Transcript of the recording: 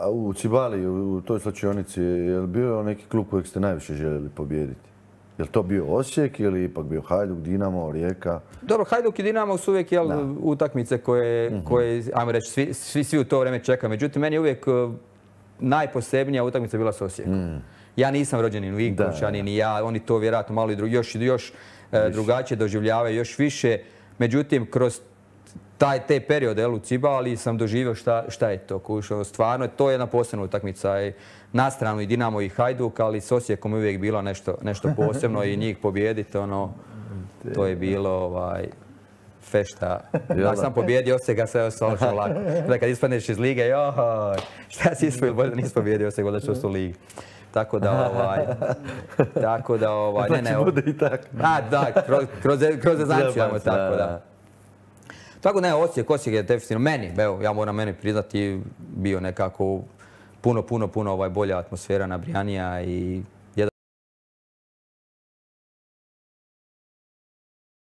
A u Cibali, u toj slačionici, je li bio neki klub kojeg ste najviše željeli pobijediti? Je li to bio Osijek ili ipak bio Hajduk, Dinamo, Rijeka? Dobro, Hajduk i Dinamo su uvijek utakmice koje, ajmo reći, svi u to vrijeme čekaju. Međutim, meni je uvijek najposebnija utakmica bila s Osijekom. Ja nisam rođeni ni Vinkovčani, ni ja, oni to vjerojatno malo još drugačije doživljavaju, još više. Međutim, kroz te periode u Cibali sam doživio šta je to. Stvarno, to je jedna posebna utakmica. Na stranu i Dinamo i Hajduk, ali s Osijekom je uvijek bilo nešto posebno i njih pobijediti, to je bilo fešta. Ako sam pobjedio Osijeka, sve je ostalo lako. Kad ispadneš iz lige, šta si ispovijedio, bolje da nisi pobjedio Osijek, da ću u ligi. Tako da, ne. Bude i tako. Da, kroz ezanciju, tako da. Tako ne, Osijek je definitivno meni, evo, ja moram meni priznati, bio nekako puno bolja atmosfera, nabrijanija i